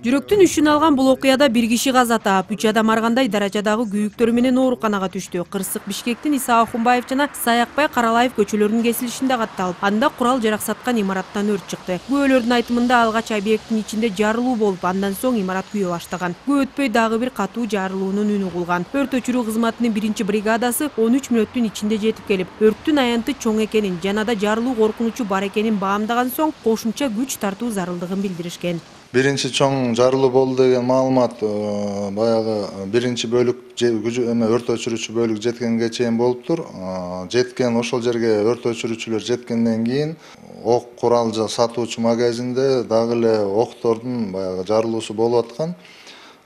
Жүрөктүн үшүн алган бул окуяда бир киши каза таап, 3 адам аргандай даражадагы күйүктөрү менен ооруканага түштү. Кырсык Бишкектин Иса Ахунбаев жана Саякбай Каралаев көчөлөрүнүн кесилишинде катталып, анда курал жарак саткан имараттан өрт чыкты. Күбөлөрдүн айтымында алгач объекттин ичинде жарылуу болуп, андан соң имарат күйө баштаган. Көп өтпөй дагы бир катуу жарылуунун үнү кулган. Өрт өчүрүү кызматынын 1-бригадасы 13 мүнөттүн ичинде жетип келип, өрттүн аянты чоң экенин, жанада жарылуу коркунучу бар экенин баамдаган соң кошумча күч тартуу зарылдыгын билдиришкен. Биринчи чоң жарылуу болду деген маалымат баягы биринчи бөлүк өрт өчүрүүчү бөлүк жеткенге чейин болуптур. Жеткен ошол жерге өрт өчүрүүчүлөр жеткенден кийин ок курал сатуучу магазинде дагы эле октордун баягы жарылуусу болуп аткан.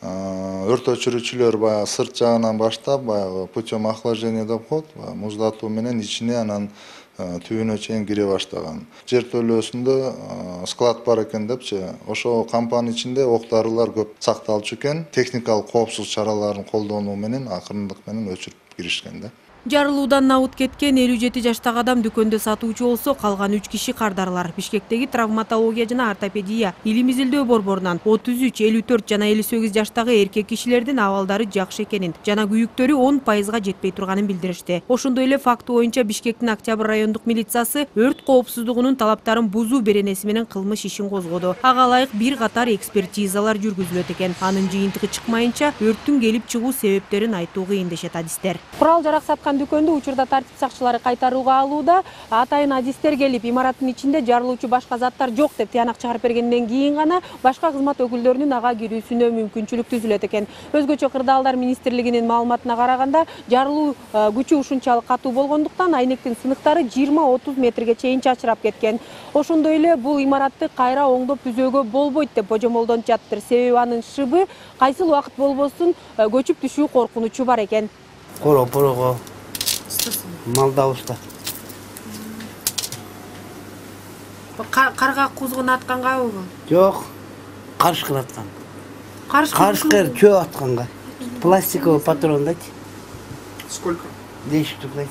Өрт өчүрүүчүлөр баягы сырт жагынан баштап, баягы путем охлаждения деп коет, муздатуу менен ичине анан түбүнө чейин кире баштаган. Жертөлөөсүндө склад бар экен депчи, ошо кампанын ичинде ок дарылар көп сакталчу экен. Техникалык коопсуздук чараларын колдонуу менен акырындык менен өчүрүп киришкен да. Жарылуудан набыт кеткен 57 жаштагы адам дүкөндө сатуучу болсо, калган 3 киши кардарылар. Бишкектеги травматология жана ортопедия илим изилдөө борборунан 33, 54 жана 58 жаштагы эркек кишилердин абалдары жакшы экенин жана күйүктөрү 10%га жетпей турганын билдиришти. Ошондой эле факты боюнча Бишкектин Октябрь райондук милициясы өрт коопсуздугунун талаптарын бузуу беренеси менен кылмыш ишин козгоду. Ага ылайык бир катар экспертизалар жүргүзүлөт экен. Анын жыйынтыгы чыкмайынча өрттүн келип чыгуу себептерин айтуу кыйын дешет адистер. Курал жарак саткан дүкөндү учурда тартип сакчылары кайтарууга алууда. Атайын адистер келип, имараттын ичинде жарылуучу башка заттар жок деп тыянак чыгарып бергенден кийин гана башка кызмат өкүлдөрүнүн ага кирүүсүнө мүмкүнчүлүк түзүлөт экен. Өзгөчө Кырдаалдар министрлигинин маалыматына караганда, жарылуу күчү ушунчалык катуу болгондуктан айнектин сыныктары 20-30 метрге чейин чачырап кеткен. Ошондой эле бул имаратты кайра оңдоп түзөөгө болбойт деп божомолдонуп жатыптыр. Себеби анын шыбы кайсыл убакыт болбосун көчүп түшүү коркунучу бар экен. Порого малда уста. Карга кузгун атканга бул? Жок, карышкыр аткан. Карышкыр чөө атканга. Пластиковый патрон дать. Сколько? 10 штук дать.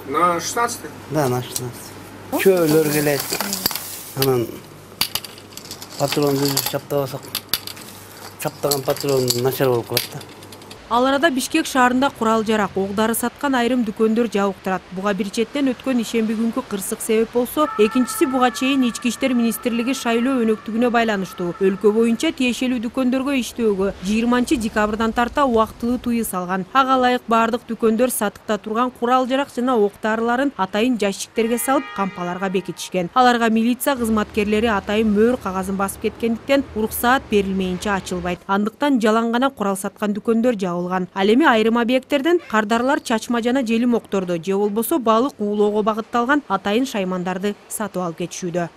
На 16? Да, на 16. Чөөлөр келет. Анан патрон үзүп чаптабасак, чаптаган патрон начар болуп калат да. Ал арада Бишкек шаарында курал жарак, ок дары саткан айрым дүкөндөр жабык турат. Буга бир четтен өткөн ишемби күнкү кырсык себеп болсо, экинчиси буга чейин Ички иштер министрлиги шайлоо өнөктүгүнө байланыштуу. Өлкө боюнча тиешелүү дүкөндөргө иштөөгө 20-декабрдан тарта убактылуу тыюу салган. Ага ылайык бардык дүкөндөр сатыкта турган курал жарак жана ок дарыларын атайын ящиктерге салып, кампаларга бекитишкен. Аларга милиция кызматкерлери атайын мөөр кагазын басып кеткендиктен уруксаат берилмейинче ачылбайт. Андыктан жалаң гана курал саткан дүкөндөр жабылган. Ал эми айрым объекттерден кардарлар чачма жана желим окторду же болбосо балык уулоого багытталган атайын шаймандарды сатып алып кетишүүдө.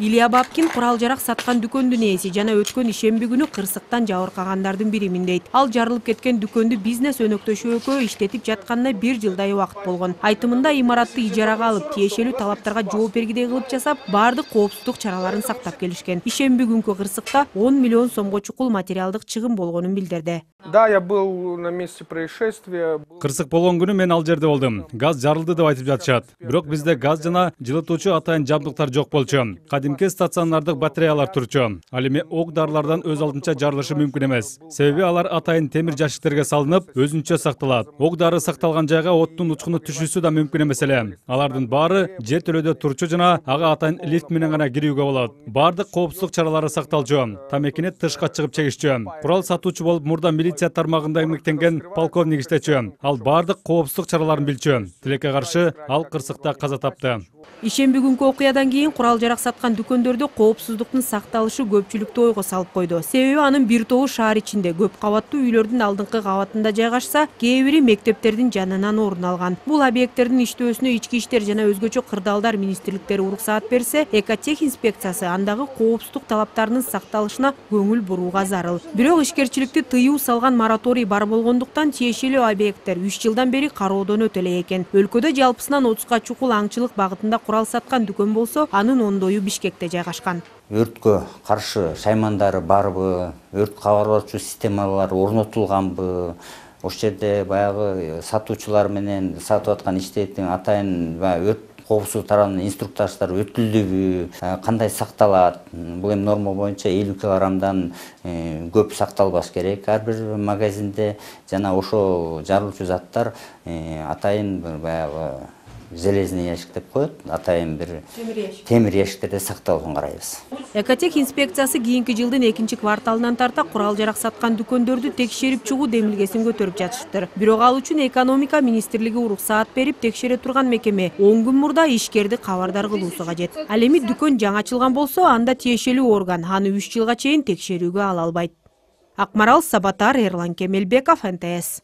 Илья Бабкин курал жарак саткан дүкөндүн ээси жана өткөн ишемби күнү кырсыктан жабыркагандардын биримин дейт. Ал жарылып кеткен дүкөндү бизнес өнөктөшү экөө иштетип жатканына 1 жылдай убакыт болгон. Айтымында имаратты ижарага алып, тиешелүү талаптарга жооп бергидей кылып жасап, бардык коопсуздук чараларын сактап келишкен. Ишемби күнкү кырсыкта 10 миллион сомго чукул материалдык чыгым болгонун билдирди. Да, я был на месте происшествия. Кырсык болгон күнү мен ал жерде болдум. Газ жарылды деп айтып жатышат. Бирок бизде газ жана жылытуучу атайын жабдыктар жок болчу. Кадимки стационардык батареялар турчу. Ал эми ок дарылардан өз алдынча жарылышы мүмкүн эмес. Себеби алар атайын темир жашиктерге салынып, өзүнчө сакталат. Ок дары сакталган жайга оттун учкуну түшүүсү да мүмкүн эмес эле. Алардын баары жертөлөдө турчу жана ага атайын лифт менен гана кирүүгө болот. Бардык коопсуздук чаралары сакталчу. Тамекини тышка чыгып чегишчү. Курал сатуучу болуп мурда милиция тармагында эмгектенген полковник иштечү. Ал бардык коопсуздук чараларын билчү. Тилекке каршы ал кырсыкта каза тапты. Ишемби күнкү окуядан кийин курал жарак саткан дүкөндөрдө коопсуздуктун сакталышы көпчүлүктү ойго салып койду. Себеби анын бир тобу шаар ичинде көп кабаттуу үйлөрдүн алдыңкы кабатында жайгашса, кээ бири мектептердин жанынан орун алган. Бул объекттердин иштөөсүнө Ички иштер жана өзгөчө Кырдаалдар министрликтери уруксаат берсе, Экотех инспекциясы андагы коопсуздук талаптарынын сакталышына көңүл бурууга зарыл. Бирок ишкерчиликти тыюу салган мораторий бар болгондуктан тиешелүү объекттер 3 жылдан бери кароодон өтө эле экен. Өлкөдө жалпысынан 30га чукул аңчылык багытында курал саткан дүкөн болсо, анын 10-дою Бишкекте жайгашкан. Өрткө каршы шаймандары барбы, өрт кабарлоочу системалар орнотулганбы, ошол жерде баягы сатуучулар менен сатып аткан иштейтин атайын өрт коопсуздук тарабынан инструктаждар өтүлдүбү, кандай сакталат. Бул эми норма боюнча 50 килограммдан көп сакталбаш керек ар бир магазинде. Жана ошол жарылуучу заттар атайын баягы железный ящик деп коет, атайын бир темир ящиктерде сакталуун карайбыз. Экотех инспекциясы кийинки жылдын 2-кварталынан тарта курал-жарак саткан дүкөндөрдү текшерип чыгуу демилгесин көтөрүп жатыштыр. Бирок ал үчүн экономика министрлиги уруксаат берип текшере турган мекеме 10 күн мурда ишкерди кабардар кылуусу кажет. Ал эми дүкөн жаңы ачылган болсо, анда тиешелүү орган аны 3 жылга чейин текшерүүгө ала албайт. Акмарал Сабатар, Эрлан Кемелбеков, НТС.